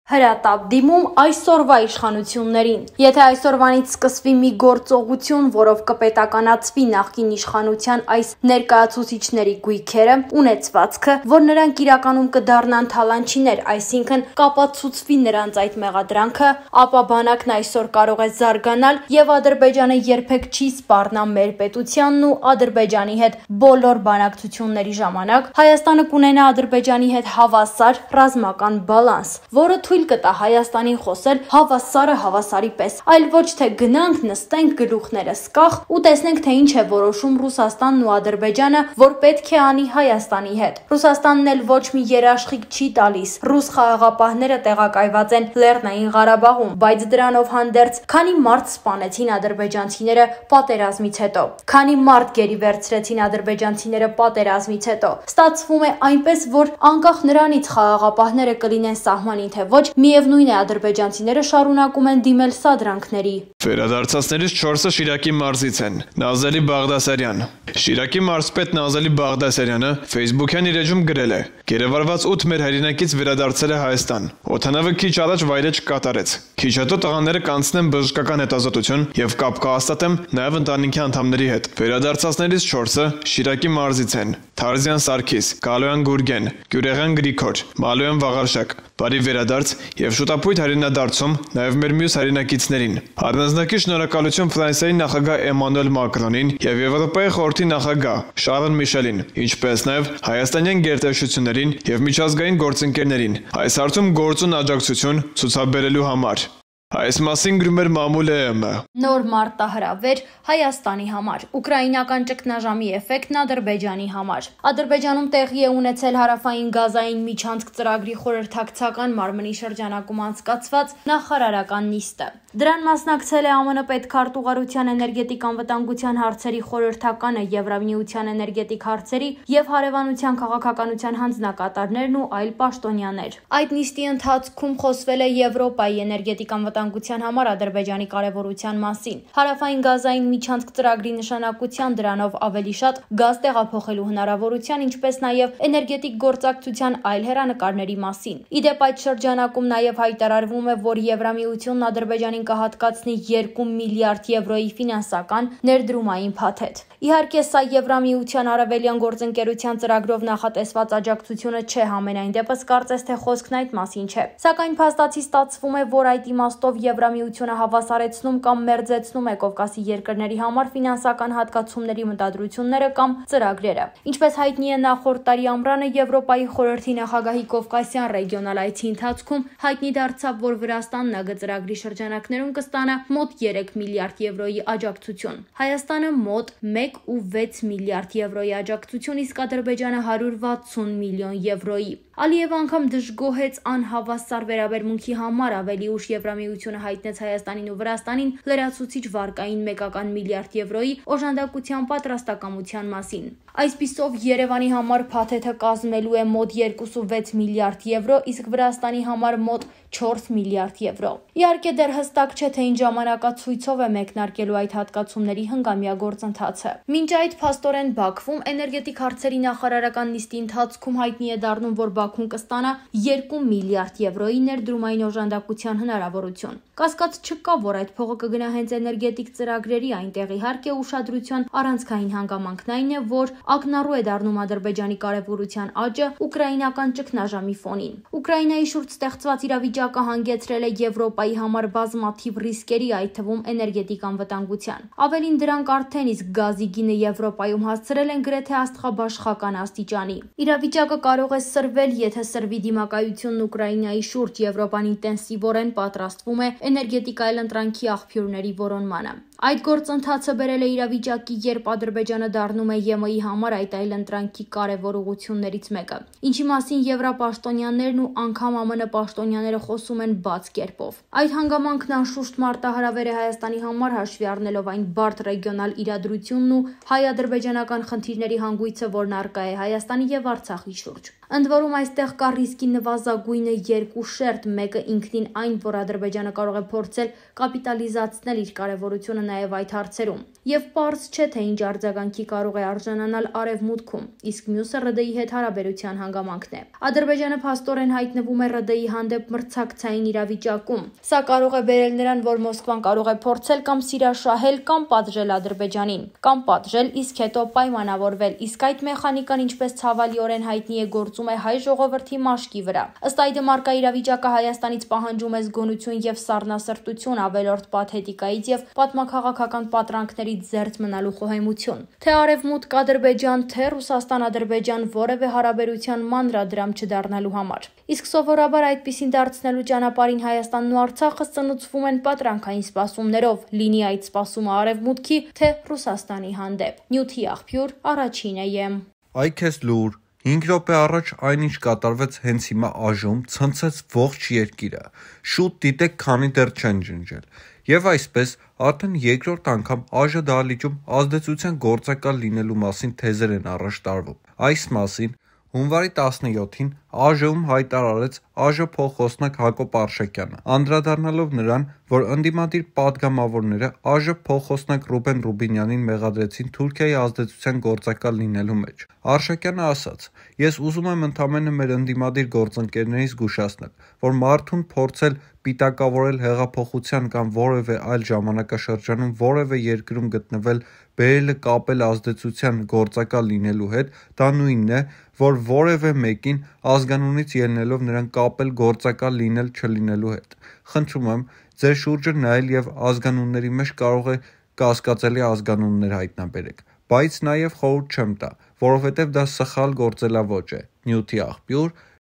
Հրատապ դիմում այսօրվա իշխանություններին։ Եթե այսօրվանից սկսվի մի գործողություն, որով կպետականացվի նախկին իշխանության այս ներկայացուցիչների գույքերը, ունեցվածքը, որ նրանք իրականում կդառնան թալանչիներ, այսինքն կապացուցվի նրանց այդ մեղադրանքը, ապա բանակն այսօր կարող է զարգանալ եւ Ադրբեջանը երբեք չի սպառնա մեր պետությանն ու Ադրբեջանի հետ բոլոր բանակցությունների ժամանակ Հայաստանը կունենա Ադրբեջանի հետ հավասար ռազմական բալանս, որը թույլ կտա Հայաստանին խոսել հավասարը հավասարի պես, այլ ոչ թե գնանք նստենք գլուխներս կախ ու տեսնենք թե ինչ է որոշում Ռուսաստանն ու Ադրբեջանը, որ պետք է անի Հայաստանի հետ։ Ռուսաստանն էլ ոչ մի երաշխիք չի տալիս։ Ռուս խաղաղապահները տեղակայված են Լեռնային Ղարաբաղում, բայց դրանով հանդերձ քանի մարդ սպանեցին ադրբեջանցիները պատերազմից հետո, քանի մարդ գերի վերցրեցին ադրբեջանցիները պատերազմից հետո։ Ստացվում է այնպես, որ անկախ նրանից խաղաղապահները կլինեն սահմանին թե ոչ, միևնույն է ադրբեջանցիները շարունակում են դիմել սադրանքների։ Վերադարձածներից 4-ը Շիրակի մարզից են։ Նազելի Բաղդասարյան։ Շիրակի մարզպետ Նազելի Բաղդասարյանը Facebook-յան իր էջում գրել է. «Գերեվարված 8 մեր հայրենակից վերադարձել է Հայաստան։ Օդանավը քիչ առաջ վայրեջք կատարեց։ Քիչ հետո տղաները կանցնեն բժշկական հետազոտություն եւ կապ կհաստատեմ նաեւ ընտանիքի անդամների հետ։ Վերադարձածներից 4-ը Շիրակի մարզից են։ Թարզյան Սարգիս, Գալոյան Գուրգեն, Գյուրեղյան Գրիգոր, Մալոյան Վաղարշակ։ Բարի վերադարձ եւ շուտապույտ հայրենադարձում նաեւ մեր մյուս հայրենակիցներին։ Առանձնակի շնորհակալություն Ֆրանսիայի նախագահ Էմանուել Մակրոնին եւ Եվրոպայի խորհրդի նախագահ Շարլ Միշելին, ինչպես նաեւ հայաստանյան գերտերություններին եւ միջազգային գործընկերներին այս հարցում գործուն աջակցություն ցուցաբերելու համար։ Այս մասին գրում էր Մամուլ ԵՄ։ Նոր մարտահրավեր Հայաստանի համար, ուկրաինական ճգնաժամի էֆեկտն Ադրբեջանի համար։ Ադրբեջանում տեղի է ունեցել հարավային գազային միջանցք ծրագրի խորհրդակցական մարմնի շրջանակում անցկացված նախարարական նիստը։ Դրան մասնակցել է ԱՄՆ պետքարտուղարության էներգետիկ անվտանգության հարցերի խորհրդականը, Եվրամիության էներգետիկ հարցերի եւ հարևանության քաղաքականության հանձնակատարներն ու այլ պաշտոնյաներ։ Այդ նիստի ընթացքում խոսվել է Եվրոպայի էներգետիկ անվտանգության համար Ադրբեջանի կարևորության մասին, հարավային գազային միջանցք ծրագրի նշանակության, դրանով ավելի շատ գազ տեղափոխելու հնարավորության, ինչպես նաև էներգետիկ գործակցության այլ հեռանկարների մասին։ Իդեպ այդ շրջանակում նաև հայտարարվում է, որ Եվրամիությունն Ադրբեջանին կհատկացնի 2 միլիարդ եվրոյի ֆինանսական ներդրումային փաթեթ։ Իհարկե, սա Եվրամիության արևելյան գործընկերության ծրագրով նախատեսված աջակցությունը չէ, համենայն դեպս կարծես թե խոսքն այդ մասին չէ։ Սակայն փաստացի ստացվում է, որ այդ իմաստով Եվրամիությունը հավասարեցնում կամ մերձեցնում է Կովկասի երկրների համար ֆինանսական հատկացումների մտադրությունները կամ ծրագրերը։ Ինչպես հայտնի է, նախորդ տարի ամռանը Եվրոպայի խորհրդի նախագահի Կովկասյան ռեգիոնալ այցի ընթացքում հայտնի դարձավ, որ Վրաստանն ԱԳ ծրագրի շրջանակներում կստանա մոտ 3 միլիարդ եվրոյի աջակցություն։ Հայաստանը մոտ 1.6 միլիարդ եվրոյի աջակցություն, իսկ Ադրբեջանը 160 միլիոն եվրոյի։ Ալիևը անգամ դժգոհեց անհավասար վերաբերմունքի համար, ավելի ուշ Եվրամիությունը հայտնեց Հայաստանին ու Վրաստանին լրացուցիչ վարկային 1 միլիարդ եվրոյի օժանդակության պատրաստակամության մասին։ Այսպիսով Երևանի համար փաթեթը կազմելու է մոտ 2.6 միլիարդ եվրո, իսկ Վրաստանի համար մոտ 4 միլիարդ եվրո։ Իհարկե դեռ հստակ չէ, թե ինչ ժամանակացույցով է մեկնարկելու այդ հատկացումների հնգամյա գործընթացը։ Մինչ այդ փաստորեն Բաքվում էներգետիկ հարցերի նախարարական նիստի ընթացքում հայտնի է դառնում, որ Բաքուն կստանա 2 միլիարդ եվրոյի ներդրումային օժանդակության հնարավորություն։ Կասկած չկա, որ այդ փողը կգնա հենց էներգետիկ ծրագրերի, այնտեղ իհարկե ուշադրության առանցքային հանգամանքն այն է, որ ակնառու է դառնում Ադրբեջանի կարևորության աճը ուկրաինական ճգնաժամի ֆոնին։ Ուկրաինայի շուրջ ստեղծված իրավիճակը հանգեցրել է Եվրոպայի համար բազմաթիվ ռիսկերի, այդ թվում էներգետիկ անվտանգության։ Ավելին դրանք արդեն իսկ գազի գինը Եվրոպայում հասցրել են գրեթե աստղաբաշխական աստիճանի։ Իրավիճակը կարող է սրվել, եթե սրվի դիմակայությունն Ուկրաինայի շուրջ, Եվրոպան ինտենսիվորեն պատրաստվում է էներգետիկ այլընտրանքի աղբյուրների որոնմանը։ Այդ գործընթացը բերել է իրավիճակի, երբ Ադրբեջանը դառնում է ԵՄ-ի համար այդ այլընտրանքի կարևոր ուղղություններից մեկը, ինչի մասին եվրապաշտոնյաներն ու անգամ ԱՄՆ պաշտոնյաները խոսում են բաց կերպով։ Այդ հանգամանքն անշուշտ մարտահրավեր է Հայաստանի համար, հաշվի առնելով այն բարդ ռեգիոնալ իրադրությունն ու հայ-ադրբեջանական խնդիրների հանգույցը, որն առկա է Հայաստանի եւ Արցախի շուրջ։ Ընդ որում այստեղ կա ռիսկի նվազագույնը երկու շերտ, մեկը ինքնին այն, որ Ադրբեջանը կարող է փորձել կապիտալիզացնել իր կարևորությունը նաև այդ հարցերում։ Եվ պարզ չէ, թե ինչ արձագանքի կարող է արժանանալ Արևմուտքում, իսկ մյուսը ՌԴ-ի հետ հարաբերության հանգամանքն է։ Ադրբեջանը փաստորեն հայտնվում է ՌԴ-ի հանդեպ մրցակցային իրավիճակում։ Սա կարող է բերել նրան, որ Մոսկվան կարող է փորձել կամ սիրաշահել կամ պատժել Ադրբեջանին, կամ պատժել, իսկ հետո պայմանավորվել, իսկ այդ մեխանիկան, ինչպես ցավալիորեն հայտնի է, գործում է հայ ժողովրդի մաշկի վրա։ Ըստ այդմ արկա իրավիճակը Հայաստանից պահանջում է զգոնություն եւ սառնասրտություն, ավելորդ պաթետիկայից եւ պատմաքաղաքական պատրանքներից զերծ մնալու խոհեմություն։ Թե Արևմուտք Ադրբեջան, թե Ռուսաստան-Ադրբեջան որևէ հարաբերության մանրադրամ չդառնալու համար։ Իսկ սովորաբար այդպիսին դարձնելու ճանապարհին Հայաստանն ու Արցախը սնուցվում են պատրանքային սպասումներով, լինի այդ սպասումը Արևմուտքի, թե Ռուսաստանի հանդեպ։ Նյութի աղբյուր, Առաջինը եմ։ Այ քեզ լուր, 5 րոպե առաջ այնինչ կատարվեց հենց հիմա ԱԺ-ում, ցնցեց ողջ երկիրը։ Շուտ դիտեք, քանի դեռ չեն ջնջել։ Եվ այսպես, արդեն երկրորդ անգամ ԱԺ դահլիճում ազդեցության գործակալ լինելու մասին թեզեր են առաջ տարվում։ Այս մասին հունվարի 17-ին ԱԺ-ում հայտարարեց ԱԺ փոխխոսնակ Հակոբ Արշակյանը, անդրադառնալով նրան, որ ընդդիմադիր պատգամավորները ԱԺ փոխխոսնակ Ռուբեն Ռուբինյանին մեղադրեցին Թուրքիայի ազդեցության գործակալ լինելու մեջ։ Արշակյանը ասաց. «Ես ուզում եմ ընդամենը մեր ընդդիմադիր գործընկերներին զգուշացնել, որ մարդուն փորձել պիտակավորել հեղափոխության կամ որևէ այլ ժամանակաշրջանում որևէ երկրում գտնվել, բերելը կապել ազդեցության գործակալ լինելու հետ, դա նույնն է, որ որևէ մեկին ազգանունից ելնելով նրան կապել գործակալ լինել չլինելու հետ։ Խնդրում եմ, ձեր շուրջը նայել եւ ազգանունների մեջ կարող է կասկածելի ազգանուններ հայտնաբերեք, բայց նաեւ խորհուրդ չեմ տա, որովհետեւ դա սխալ գործելաոճ է»։ Նյութի աղբյուր,